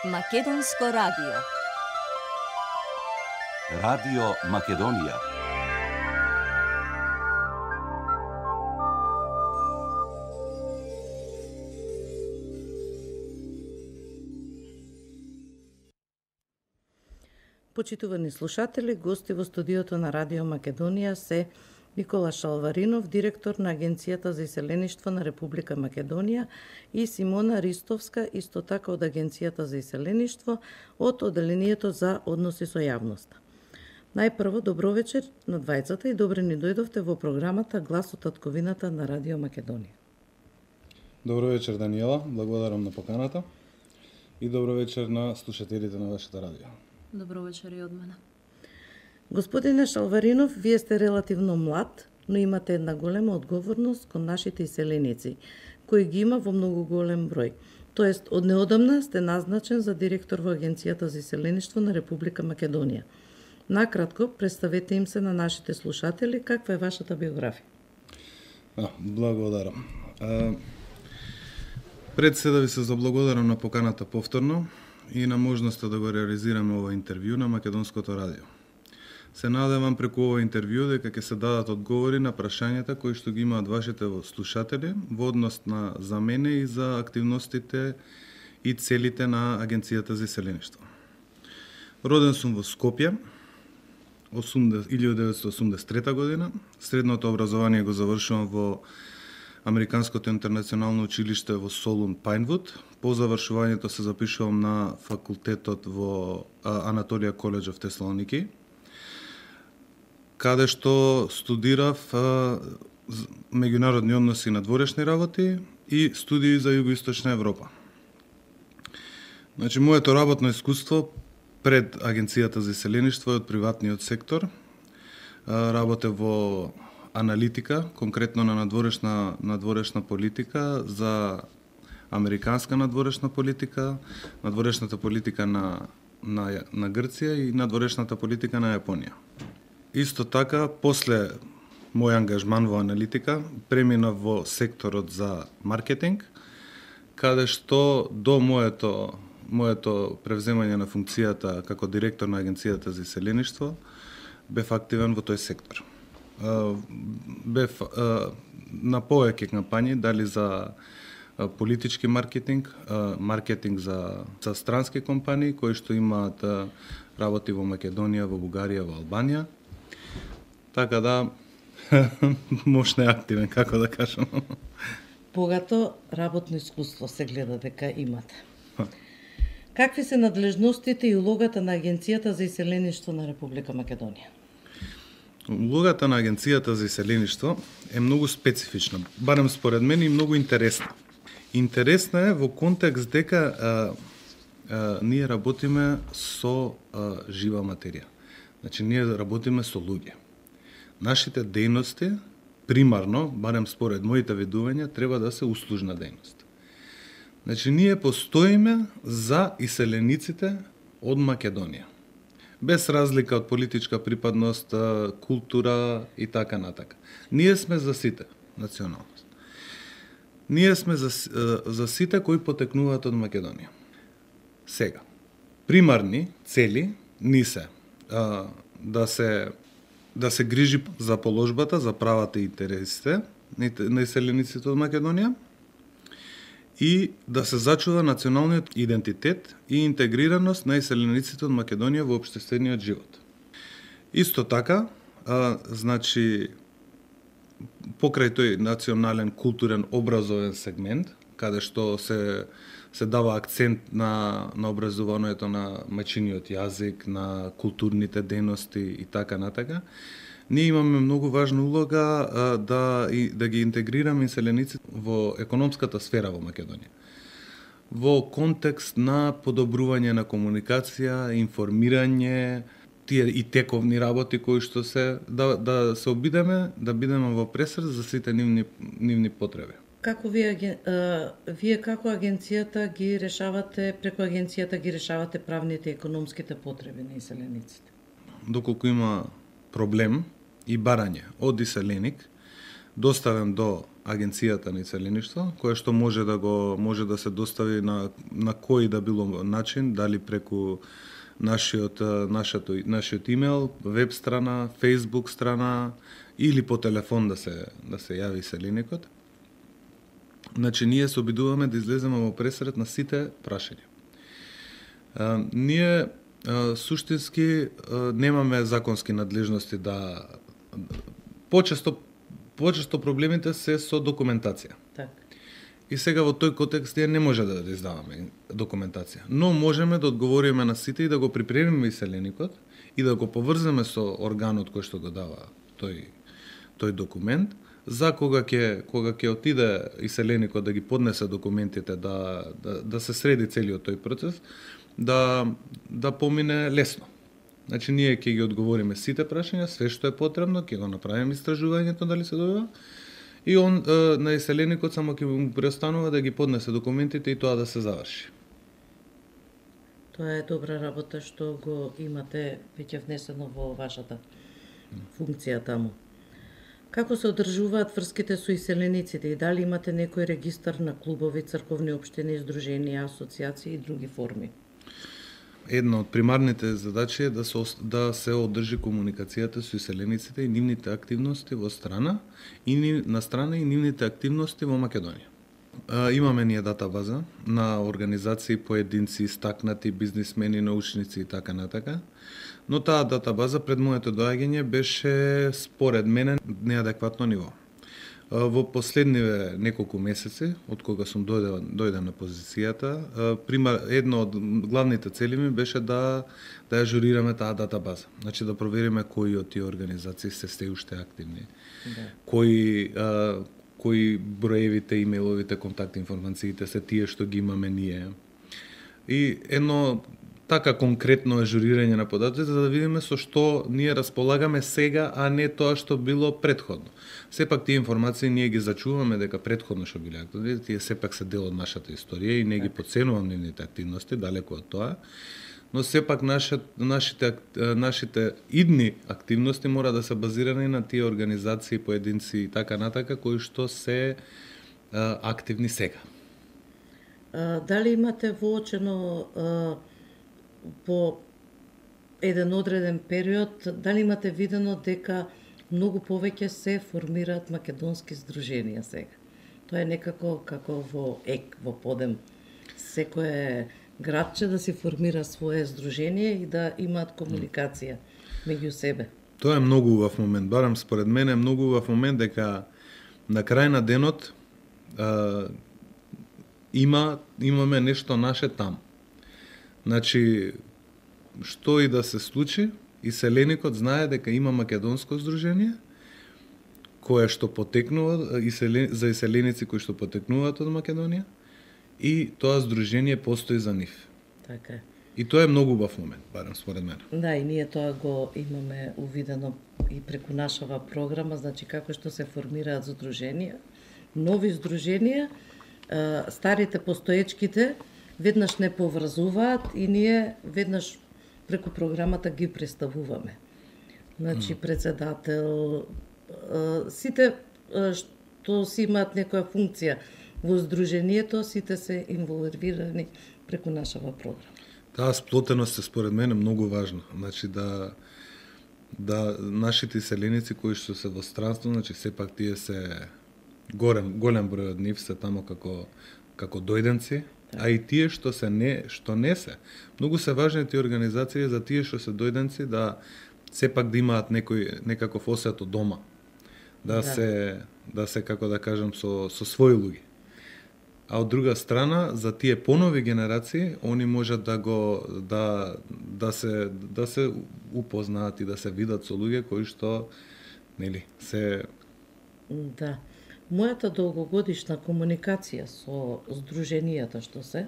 Македонско радио. Радио Македонија. Почитувани слушатели, гости во студиото на Радио Македонија се Никола Шалваринов, директор на Агенцијата за иселеништво на Република Македонија, и Симона Ристовска, исто така од Агенцијата за иселеништво од Оделението за односи со јавноста. Најпрво, добро вечер на двајцата и добре ни дојдовте во програмата Глас од татковината на Радио Македонија. Добро вечер, Даниела, благодарам на поканата и добро вечер на слушателите на вашата радио. Добро вечер и од мене. Господине Шалваринов, вие сте релативно млад, но имате една голема одговорност кон нашите иселеници, кои ги има во многу голем број. Тоест, од неодамна сте назначен за директор во Агенцијата за иселеништво на Република Македонија. Накратко, представете им се на нашите слушатели каква е вашата биографија. Благодарам. Пред се да ви се заблагодарам на поканата повторно и на можноста да го реализираме ова интервју на Македонското радио. Се надевам преку ова интервју дека ќе се дадат одговори на прашањата кои што ги имаат вашите слушатели во однос на за мене и за активностите и целите на Агенцијата за иселеништво. Роден сум во Скопје 1983 година. Средното образование го завршувам во Американското интернационално училиште во Солун, Пайнвуд. По завршувањето се запишувам на факултетот во Анаторија Коледж в Теслоники, каде што студирав меѓународни односи и надворешни работи и студии за Југоисточна Европа. Значи, моето работно искуство пред Агенцијата за иселеништво е од приватниот сектор. Работев во аналитика, конкретно на надворешна политика, за американска надворешна политика, надворешната политика на Грција и надворешната политика на Јапонија. Исто така, после мој ангажман во аналитика, преминав во секторот за маркетинг, каде што до моето превземање на функцијата како директор на Агенцијата за иселеништво, бев активен во тој сектор. Бев на повеќе кампањи, дали за политички маркетинг, маркетинг за странски компании кои што имаат работи во Македонија, во Бугарија, во Албанија. Така да, мощно е активен, како да кажам. Богато работно искуство се гледа дека имате. Какви се надлежностите и улогата на Агенцијата за иселеништво на Република Македонија? Улогата на Агенцијата за иселеништво е многу специфична, барем според мен, и многу интересна. Интересна е во контекст дека ние работиме со жива материја. Значи, ние работиме со луѓе. Нашите дејности, примарно, барем според моите видувања, треба да се услужна дејност. Значи, ние постоиме за иселениците од Македонија. Без разлика од политичка припадност, култура и така натака. Ние сме за сите националност. Ние сме за сите кои потекнуваат од Македонија. Сега, примарни цели ни се да се грижи за положбата, за правата и интересите на иселениците од Македонија и да се зачува националниот идентитет и интегрираност на иселениците од Македонија во општествениот живот. Исто така, значи, покрај тој национален, културен, образовен сегмент, каде што се дава акцент на образувањето на мајчиниот јазик, на културните дејности и така натака, ние имаме многу важна улога да ги интегрираме иселениците во економската сфера во Македонија. Во контекст на подобрување на комуникација, информирање, тие и тековни работи кои што да се обидеме да бидеме во пресред за сите нивни потреби. Како вие како агенцијата ги решавате, преку агенцијата ги решавате правните и економските потреби на иселениците? Доколку има проблем и барање од иселеник доставен до агенцијата на иселеништво, кое што може да се достави на кој да било начин, дали преку нашиот имейл, веб страна, Facebook страна или по телефон да се јави иселеникот. Значи, ние се обидуваме да излеземе во пресред на сите прашања. Ние суштински немаме законски надлежности да почесто проблемите се со документација. Так. И сега во тој контекст ние не може да издаваме документација, но можеме да одговориме на сите и да го припремиме иселеникот и да го поврземе со органот кој што го дава тој документ, за кога ќе отиде иселеникот да ги поднесе документите, да се среди целиот тој процес, да помине лесно. Значи, ние ќе ги одговориме сите прашања, све што е потребно, ќе го направиме истражувањето дали се добива, и он на иселеникот само ќе му преостанува да ги поднесе документите и тоа да се заврши. Тоа е добра работа што го имате веќе внесено во вашата функција таму. Како се одржуваат врските со иселениците и дали имате некој регистар на клубови, црковни општини, здруженија, асоциации и други форми? Една од примарните задачи е да се одржи комуникацијата со иселениците и нивните активности во страна и нивните активности во Македонија. Имаме ние датабаза на организации, поединци, истакнати бизнисмени, научници и така натака. Но таа датабаза пред моето доаѓање беше според мене неадекватно ниво. Во последниве неколку месеци, од кога сум дојден на позицијата, едно од главните цели ми беше да ажурираме таа датабаза. Значи да провериме кои од тие организации се уште активни. Да. Кои броевите, имејловите, контакт информациите се тие што ги имаме ние. И едно така конкретно ажурирање на податоците за да видиме со што ние располагаме сега, а не тоа што било претходно. Сепак тие информации ние ги зачуваме дека претходно што биле активни, тие сепак се дел од нашата историја и не ги потценувам нивните активности, далеку од тоа. Но сепак нашите идни активности мора да се базирани на тие организации, поединци и така натака кои што се активни сега. Дали имате воочено по еден одреден период, дали имате видено дека многу повеќе се формираат македонски здруженија сега? Тоа е некако како во подем. Секое градче да си формира свое здружение и да имаат комуникација меѓу себе. Тоа е многу убав момент, барам според мене е многу убав момент дека на крај на денот имаме нешто наше таму. Значи, што и да се случи, иселеникот знае дека има македонско здружение, кое што потекнува, за иселеници кои што потекнуваат од Македонија, и тоа здружение постои за нив. Така е. И тоа е многу убав момент, барем според мене. Да, и ние тоа го имаме увидено и преку нашава програма, значи како што се формираат здруженија, нови здруженија, старите постоечките веднаш не поврзуваат и ние веднаш преку програмата ги представуваме. Значи председател, сите што си имаат некоја функција во здруженијето, сите се инволвирани преку нашава програма. Таа сплотеност е според мене многу важна. Значи да нашите иселеници кои што се во странство, значи сепак тие се голем број од нив се тамо како дојденци, а и тие што не се. Многу се важни тие организации за тие што се дојденци да сепак да имаат некаков осет од дома. Да се како да кажам со своји луѓе. А од друга страна, за тие понови генерации, они можат да се упознаат и да се видат со луѓе кои што се. Да. Мојата долгогодишна комуникација со здруженијата што се,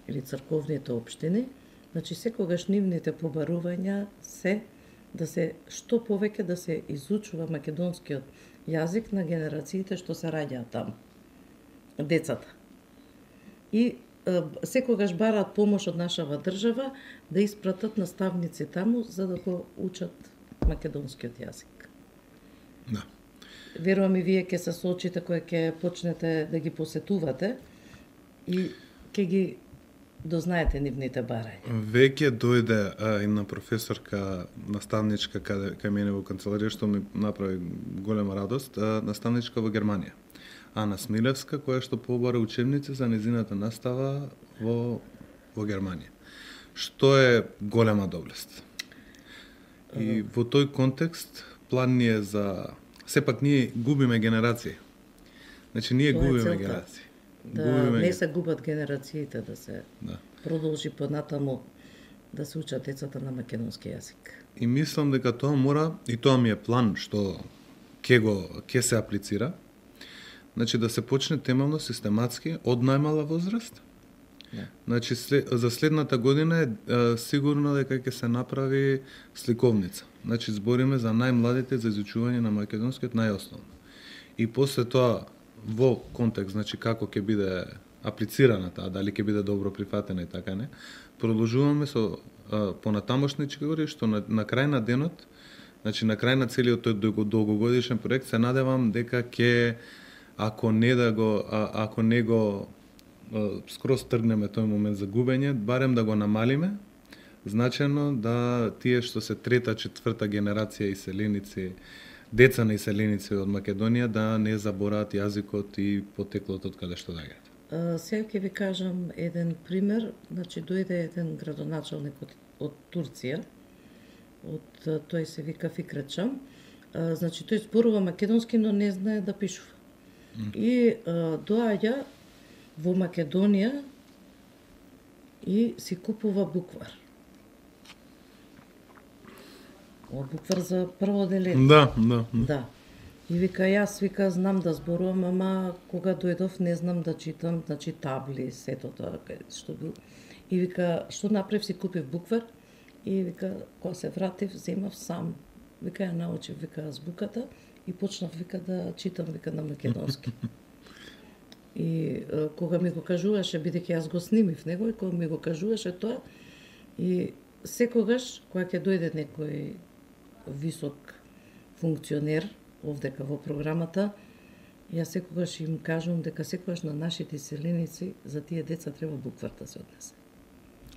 или црковните општини, значи секогаш нивните побарувања се да се што повеќе да се изучува македонскиот јазик на генерациите што се раѓаат таму, децата. И секогаш бараат помош од нашава држава да испратат наставници таму за да го учат македонскиот јазик. Да. верувам и вие ќе се соочите кога ќе почнете да ги посетувате и ќе ги дознаете нивните барања. Веќе дојде една професорка, наставничка кај мене во канцеларија, што ми направи голема радост, наставничка во Германија. Ана Смилевска, која што побара учебници за незината настава во Германија. Што е голема доблест. И во тој контекст план ни е за... Сепак ние губиме генерации. Значи ние губиме генерации. Не се губат генерациите, да се продолжи понатаму да се учат децата на македонски јазик. И мислам дека тоа мора, и тоа ми е план што ќе се аплицира, значи да се почне темелно, систематски, од најмала возраст. Значи за следната година е сигурно дека ќе се направи сликовница. Значи збориме за најмладите за изучување на македонскиот најосновно. И после тоа во контекст, значи како ќе биде аплицирана таа, дали ќе биде добро прифатена и така не, продолжуваме со понатамошнички говори што на крај на денот, значи на крај на целиот тој долгогодишен проект, се надевам дека ќе ако не го скроз тргнеме тој момент за губење, барем да го намалиме, значено да тие што се трета, четврта генерација иселеници, деца на иселеници од Македонија, да не забораат јазикот и потеклото од каде што доаѓаат. Сега ќе ви кажам еден пример. Значи дојде еден градоначалник од Турција, тој се вика Фикрет-чам. Значи тој зборува македонски, но не знае да пишува. И доаѓа во Македонија и си купува буквар. Буквар за прво деление. Да. И вика, јас знам да зборувам, ама кога дојдов не знам да читам, значи табли, сето тоа што бил. И вика, што направив, си купив буквар и вика, кога се вратив, земав сам. Вика, ја научив, вика, азбуката и почнав, вика, да читам, вика, на македонски. И кога ми го кажуваше, бидејќи јас го снимив него, и кога ми го кажуваше тоа, и секогаш, кога ќе дојде некој висок функционер, овдека во програмата, јас секогаш им кажувам дека секогаш на нашите иселеници за тие деца треба буквар да се однесе.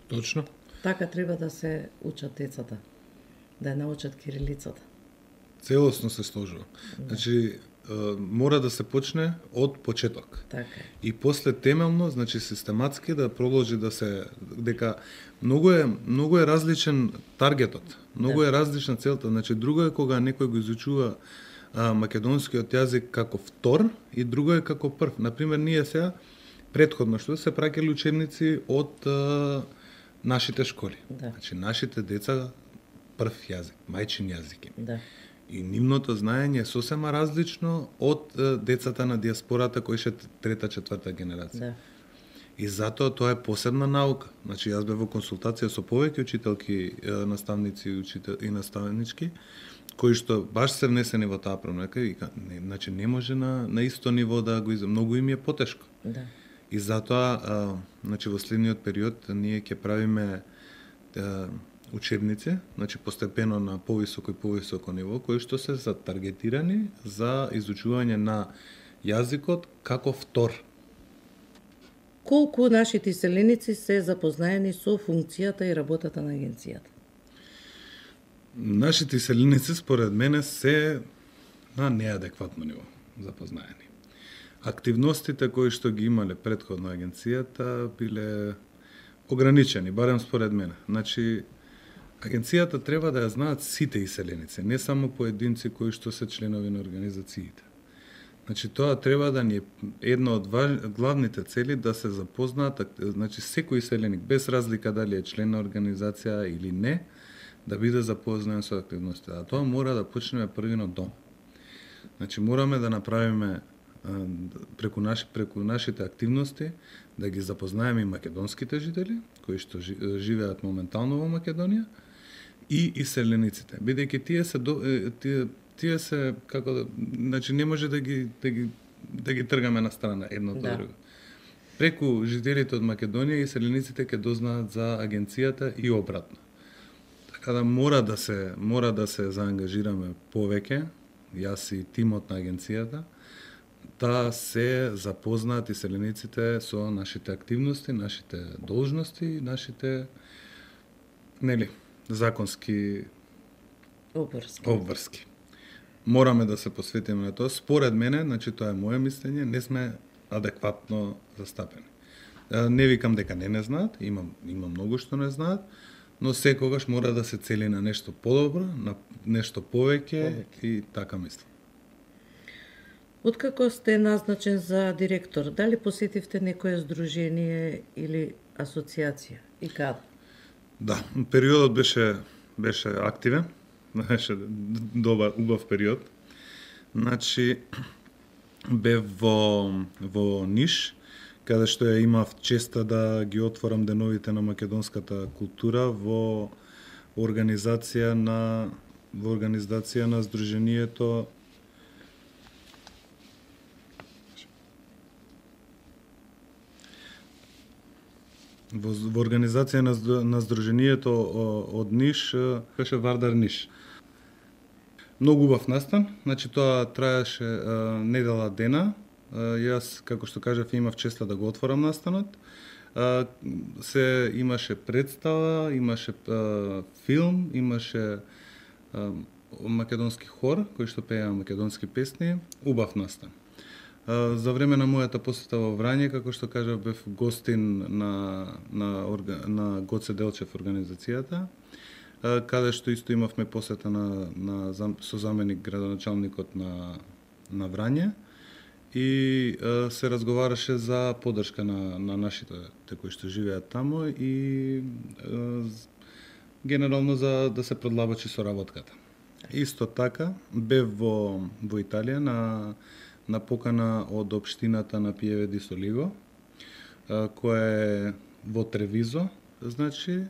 Точно. Така треба да се учат децата, да ја научат кирилицата. Целосно се сложува. Значи, мора да се почне од почеток. Така. И после темелно, значи систематски да продолжи да се дека многу е различен таргетот. Многу е различна целта. Значи друго е кога некој го изучува македонскиот јазик како втор и друго е како прв. Например, ние сега претходно што се праќале учебници од нашите школи. Да. Значи нашите деца прв јазик, мајчин јазик. Да. И нивното знаење е сосема различно од децата на диаспората кои се трета, четврта генерација. Да. И затоа тоа е посебна наука. Значи јас бев во консултација со повеќе учителки, наставници и наставнички, кои што баш се внесени во таа промека и значи не може на исто ниво да го многу им е потешко. Да. И затоа значи во следниот период ние ќе правиме учебници, значи постепено на повисоко и повисоко ниво, кои што се затаргетирани за изучување на јазикот како втор. Колку нашите иселеници се запознаени со функцијата и работата на агенцијата? Нашите иселеници, според мене, се на неадекватно ниво запознаени. Активностите кои што ги имале претходно агенцијата биле ограничени, барем според мене. Значи, агенцијата треба да ја знаат сите иселеници, не само поединци кои што се членови на организациите. Значи, тоа треба да ни е една од главните цели да се запознаат, значи, секој иселеник, без разлика дали е член на организација или не, да биде запознаен со активностите. А тоа мора да почнеме први од дом. Значи, мораме да направиме преку нашите активности да ги запознаеме и македонските жители, кои што живеат моментално во Македонија, и иселениците. Бидејќи тие се како да, значи не може да ги тргаме на страна едно од друго. Преку жителите од Македонија иселениците ќе дознаат за агенцијата и обратно. Така да мора да се заангажираме повеќе јас и тимот на агенцијата, да се запознаат иселениците со нашите активности, нашите должности, нашите законски обврски. Мораме да се посветиме на тоа. Според мене, значи тоа е моје мислење, не сме адекватно застапени. Не викам дека не знаат, има многу што не знаат, но секогаш мора да се цели на нешто подобро, на нешто повеќе и така мислам. Откако сте назначен за директор, дали посетивте некое здружение или асоциација и каде? Да, периодот беше активен, беше добар, убав период. Значи бев во Ниш, каде што ја имав честа да ги отворам деновите на македонската култура во организација на здружението во организација на здружението од Ниш, беше Вардар Ниш. Многу убав настан, значи тоа траеше недела дена. Јас, како што кажав, имав честа да го отворам настанот. Се имаше представа, имаше филм, имаше македонски хор кој што пееа македонски песни, убав настан. За време на мојата посета во Врање, како што кажав, бев гостин на Гоце Делчев организацијата, каде што исто имавме посета со заменик градоначалникот на Врање и се разговараше за поддршка на нашите кои што живеат таму и генерално за да се продлабочи соработката. Исто така бев во Италија на покана од општината на Пиеве ди Солиго, која е во Тревизо, значи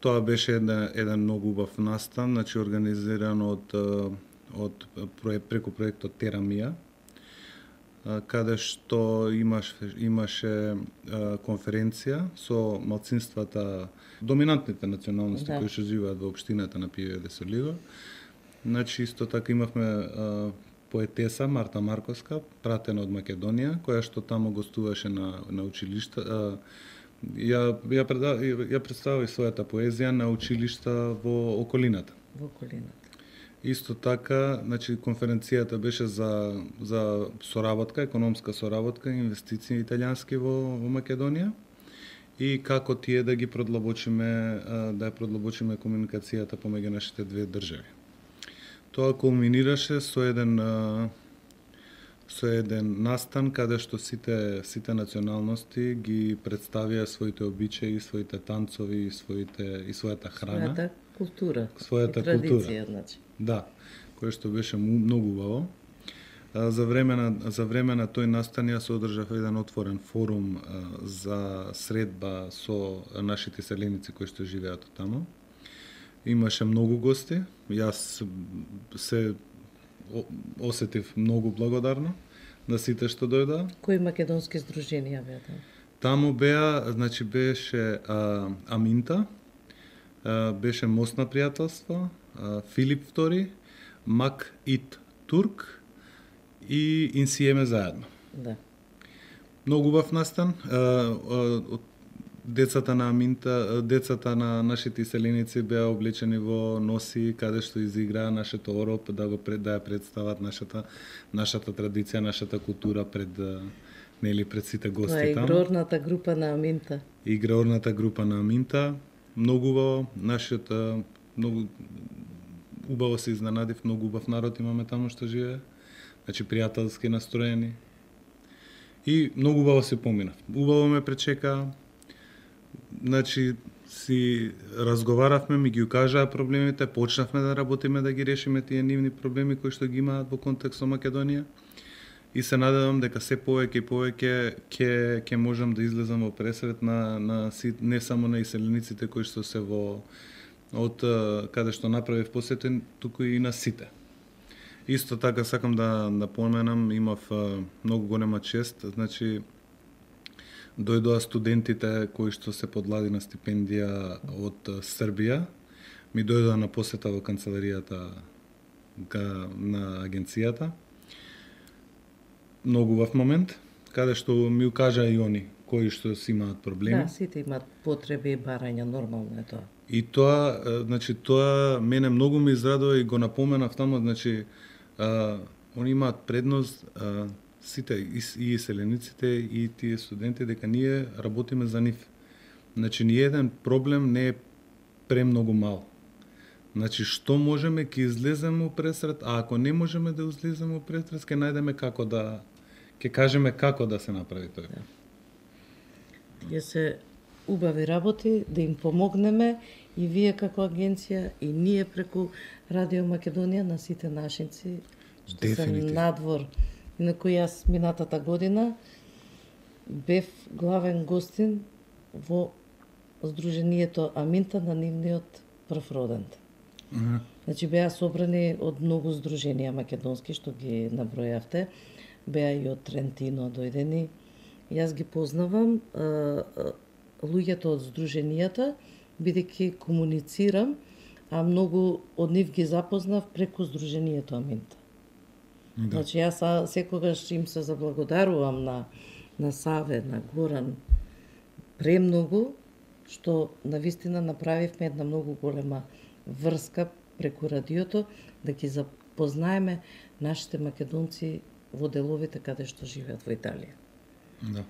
тоа беше еден многу убав настан, значи организиран преку проектот Терамија, каде што имаше конференција со малцинствата, доминантните националности кои што живеат во општината на Пиеве ди Солиго. Значи исто така имавме поетеса Марта Марковска, пратена од Македонија, која што таму гостуваше на училишта. Ја представи својата поезија на училишта во околината. Исто така, значи конференцијата беше за соработка, економска соработка, инвестиции италијански во Македонија и како тие да ги продлабочиме комуникацијата помеѓу нашите две држави. Тоа кулминираше со еден настан каде што сите националности ги представија своите обичаи, своите танцови и својата храна. Својата култура. Значи. Да, кое што беше многу убаво. За време на тој настан јас одржав еден отворен форум за средба со нашите селеници кои што живеат таму. Имаше многу гости, јас се осетив многу благодарно на сите што дојдоа. Кои македонски здруженија беа таму? Таму беа, значи беше Аминта, беше Мост на пријателство, Филип II, Мак Ит Турк и Инсиеме заедно. Да. Многу убав настан. Децата на Аминта, децата на нашите иселеници беа облечени во носи каде што изиграа нашето ороп, да ја представат нашата традиција, нашата култура пред сите гости таму. Тоа е игрорната група на Аминта. Игрорната група на Аминта. Многу убаво, многу убаво се изненадив, многу убав народ имаме таму што живее. Значи пријателски настроени. И многу убаво се поминав. Убаво ме пречека. Значи си разговаравме, ми ги укажаа проблемите, почнавме да работиме да ги решиме тие нивни проблеми кои што ги имаат во контекст со Македонија. И се надевам дека се повеќе и повеќе ќе можам да излезам во пресрет не само на иселениците кои што се од каде што направив посета, туку и на сите. Исто така сакам да напоменам, имав многу голема чест, значи дојдоа студентите кои што се подлади на стипендија од Србија, ми дојдоа на посета во канцеларијата на агенцијата. Многу убав момент, каде што ми укажа и они кои што си имаат проблеми. Да, сите имаат потреби и барања, нормално е тоа. И тоа, значи, тоа мене многу ме израдува и го напоменав таму, значи, они имаат предност, сите, и селениците, и тие студенти, дека ние работиме за нив. Значи, ни еден проблем не е премногу мал. Значи, што можеме, ќе излеземе пресред, а ако не можеме да излеземе пресред, ќе најдеме како да, ќе кажеме како да се направи тоа. Да. Тие се убави работи, да им помогнеме и вие како агенција, и ние преку Радио Македонија на сите нашинци, што се надвор. Инаку јас минатата година бев главен гостин во Сдруженијето Аминта на нивниот прв родент. Значи беа собрани од многу здруженија македонски што ги набројавте, беа и од Трентино дојдени. Јас ги познавам луѓето од здруженијата, бидејќи комуницирам, а многу од нив ги запознав преку Сдруженијето Аминта. Да. Значи јас секогаш им се заблагодарувам на Саве, на Горан, премногу, што навистина направивме една многу голема врска преку радиото, да ги запознаеме нашите македонци во деловите каде што живеат во Италија. Да.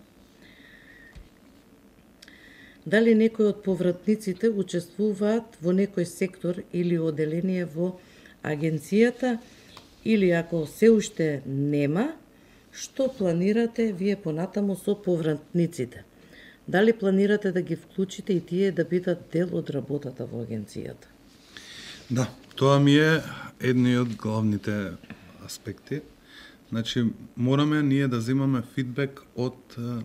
Дали некои од повратниците учествуваат во некој сектор или оделение во агенцијата, или ако се уште нема, што планирате вие понатаму со повратниците? Дали планирате да ги вклучите и тие да бидат дел од работата во агенцијата? Да, тоа ми е едни од главните аспекти. Значи, мораме ние да земаме фидбек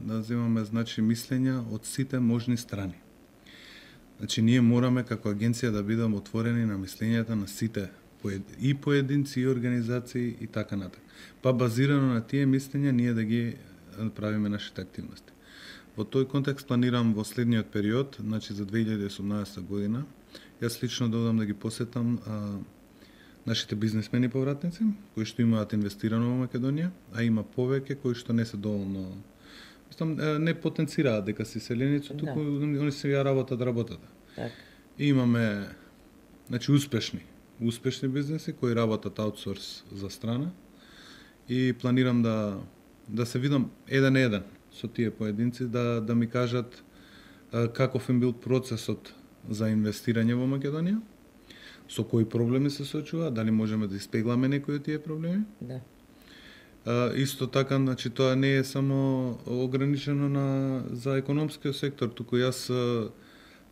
да земаме, значи, мислења од сите можни страни. Значи, ние мораме како агенција да бидеме отворени на мислењата на сите и поединци, и организации, и така натаму. Па базирано на тие мислења, ние да ги правиме нашите активности. Во тој контекст планирам во следниот период, значи за 2018 година, јас лично додам да ги посетам нашите бизнесмени повратници, кои што имаат инвестирано во Македонија, а има повеќе кои што не се доволно, не потенцираат дека се селеници, туку они се ја работат. Так. И имаме, значи, успешни бизнеси кои работат аутсорс за страна и планирам да се видам еден на еден со тие поединци, да ми кажат каков им бил процесот за инвестирање во Македонија, со кои проблеми се соочува, дали можеме да испегламе некои од тие проблеми. Да. Исто така, значи, тоа не е само ограничено за економскиот сектор, туку јас,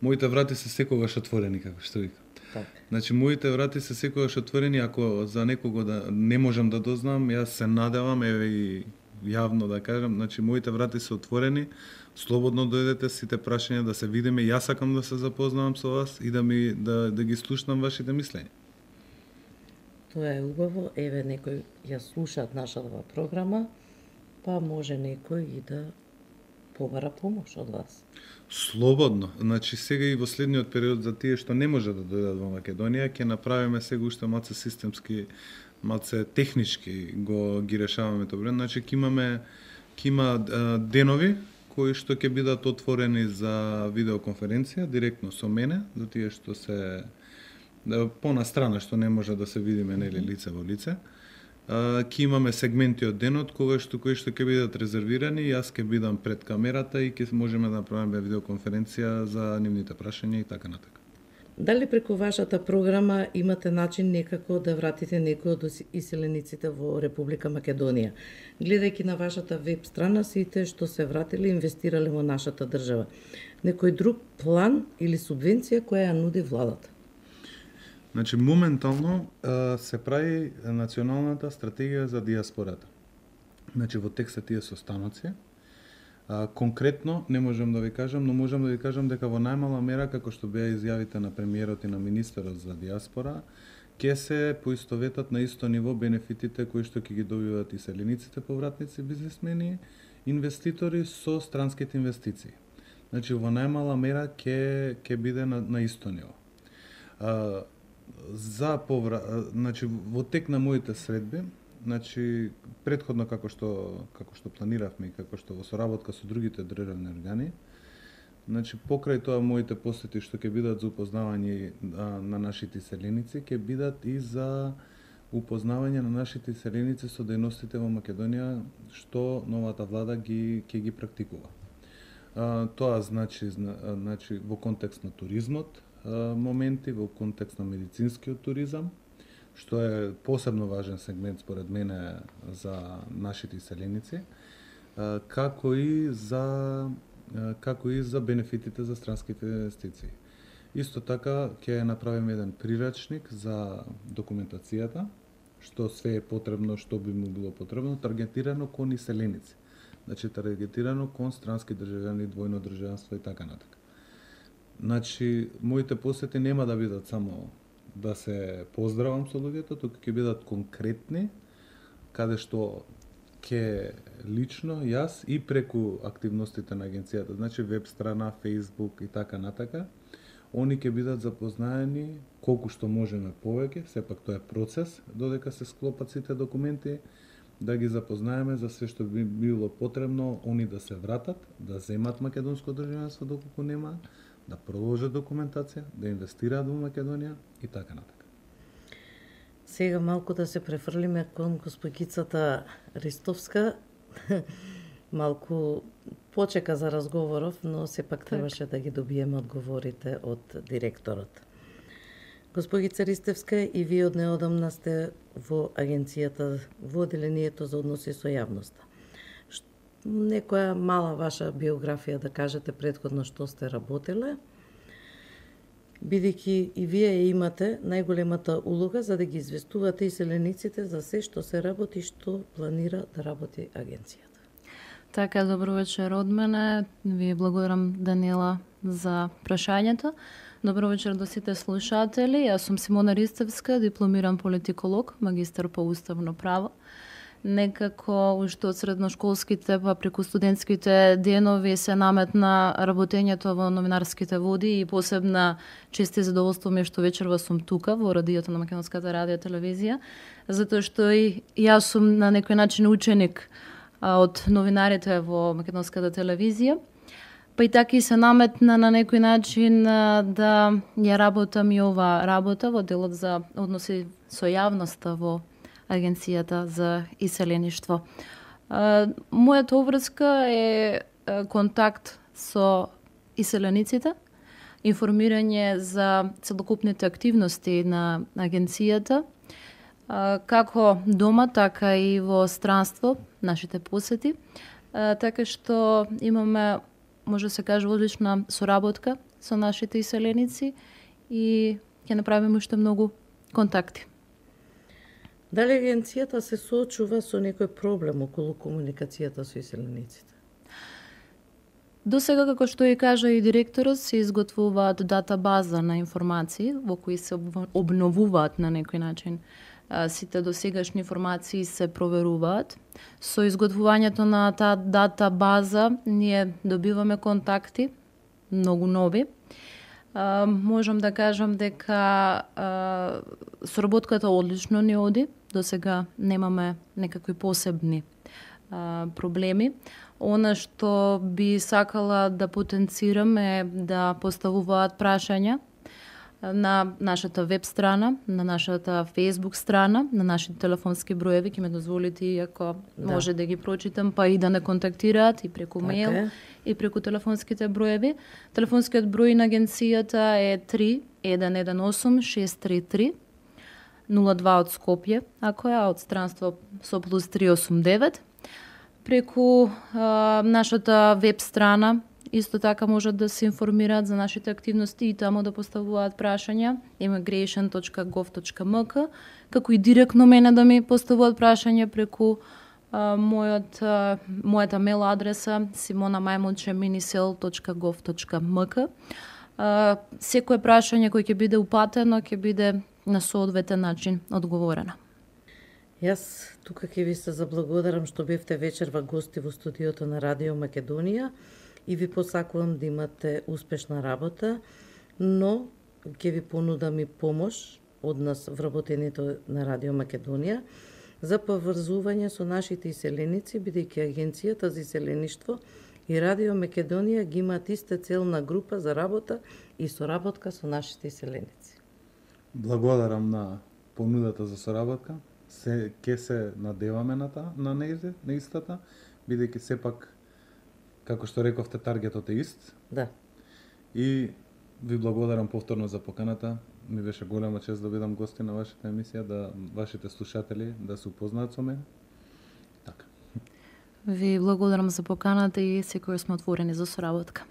моите врати се секогаш отворени, како што викам. Так. Значи, моите врати се секогаш отворени, ако за некого да не можам да дознам, јас се надевам, еве и јавно да кажам, значи, моите врати се отворени, слободно дојдете сите прашања да се видиме, јас сакам да се запознавам со вас и да ги слушнам вашите мислења. Тоа е убаво, еве некој ја слушаат нашата програма, па може некој и да побара помош од вас. Слободно. Значи, сега и во следниот период за тие што не може да дојдат во Македонија, ќе направиме сега уште малце системски, малце технички ги решаваме тоа проблем. Значи, ќе има денови кои што ќе бидат отворени за видеоконференција директно со мене, за тие што се понастрана, што не може да се видиме нели лице во лице. Ќе имаме сегменти од денот кои што ќе бидат резервирани, јас ќе бидам пред камерата и ќе можеме да направиме видеоконференција за нивните прашања и така натака. Дали преку вашата програма имате начин некако да вратите некои од иселениците во Република Македонија? Гледајќи на вашата веб страна, сите што се вратиле инвестирале во нашата држава. Некој друг план или субвенција која ја нуди владата? Значи, моментално се прави националната стратегија за диаспората. Значи, во текст се тие состаноци. Конкретно не можам да ви кажам, но можам да ви кажам дека во најмала мера, како што беа изјавите на премиерот и на министерот за диаспора, ќе се поистоветат на исто ниво бенефитите кои што ќе ги добиваат и селениците, повратници, бизнесмени, инвеститори со странските инвестиции. Значи, во најмала мера ќе биде на исто ниво. Значи во тек на моите средби, значи претходно како што планиравме и како што во соработка со другите државни органи, значи покрај тоа моите посети што ќе бидат за упознавање на нашите иселеници, ќе бидат и за упознавање на нашите иселеници со дејностите во Македонија што новата влада ќе ги практикува. Тоа значи во контекст на туризмот, моменти во контекст на медицинскиот туризам, што е посебно важен сегмент според мене за нашите иселеници, како и за бенефитите за странските инвестиции. Исто така ќе направиме еден прирачник за документацијата, што све е потребно, што би му било потребно, таргетирано кон иселеници. Значи таргетирано кон странски државјани, двојно државенство и така натака. Значи, моите посети нема да бидат само да се поздравам со луѓето, туку ќе бидат конкретни, каде што ќе лично јас и преку активностите на агенцијата, значи веб страна, Facebook и така натака, они ќе бидат запознаени колку што можеме повеќе, сепак тоа е процес, додека се склопат сите документи, да ги запознаеме за све што би било потребно, они да се вратат, да земат македонско државенство доколку нема, да продолжат документација, да инвестираат во Македонија и така натака. Сега малку да се префрлиме кон госпогицата Ристовска. Малку почека за разговоров, но сепак требаше да ги добиеме одговорите од директорот. Госпогица Ристевска, и вие од неодамна сте во агенцијата, во одделението за односи со јавноста. Некоја мала ваша биографија да кажете претходно што сте работеле, бидејќи и вие имате најголемата улога за да ги известувате иселениците за се што се работи, што планира да работи агенцијата. Така, добро вечер од мене. Ви благодарам, Даниела, за прашањето. Добро вечер до сите слушатели. Јас сум Симона Ристевска, дипломиран политиколог, магистар по уставно право. Некако уште од средношколските па преку студентските денови се наметна работењето во новинарските води и посебна чест и задоволство ми е што вечерва сум тука во радиото на Македонската радио телевизија, затоа што и јас сум на некој начин ученик од новинарите во Македонската телевизија. Па и така и се наметна на некој начин да ја работам и ова работа во делот за односи со јавноста во Агенцијата за иселеништво. Мојата обврска е контакт со иселениците, информирање за целокупните активности на агенцијата, како дома, така и во странство, нашите посети, така што имаме, може да се каже, одлична соработка со нашите иселеници и ќе направиме уште многу контакти. Дали агенцијата се соочува со некој проблем околу комуникацијата со иселениците? До сега, како што и кажа и директорот, се изготвуваат датабаза на информации во кои се обновуваат на некој начин. Сите досегашни информации се проверуваат. Со изготвувањето на таа датабаза ние добиваме контакти, многу нови. Можам да кажам дека соработката одлично ни оди. До сега немаме некакви посебни проблеми. Она што би сакала да потенцирам е да поставуваат прашања на нашата веб страна, на нашата Facebook страна, на нашите телефонски броеви, ќе ме дозволите, иако може да ги прочитам, па и да не контактираат и преку мејл, и преку телефонските броеви. Телефонскиот број на агенцијата е 3118 633 02 од Скопје, ако е од странство со плюс 389. Преку нашата веб страна исто така можат да се информираат за нашите активности и таму да поставуваат прашања immigration.gov.mk, како и директно мене да ми поставуваат прашања преку мојата мейл адреса simonamajmonche@minisel.gov.mk. Секое прашање кој ќе биде упатено, ќе биде на соодветен начин одговорено. Јас тука ќе ви се заблагодарам што бевте вечерва гости во студиото на Радио Македонија и ви посакувам да имате успешна работа, но ќе ви понудам и помош однос вработените на Радио Македонија за поврзување со нашите иселеници, бидејќи Агенцијата за иселеништво и Радио Македонија ги имаат иста целна група за работа и соработка со нашите иселеници. Благодарам на понудата за соработка. Ке се надеваме на истата, бидејќи сепак, како што рековте, таргетот е ист. Да. И ви благодарам повторно за поканата. Ми беше голема чест да бидам гости на вашата емисија, да вашите слушатели да се упознаат со мене. Така. Ви благодарам за поканата и секој сме отворени за соработка.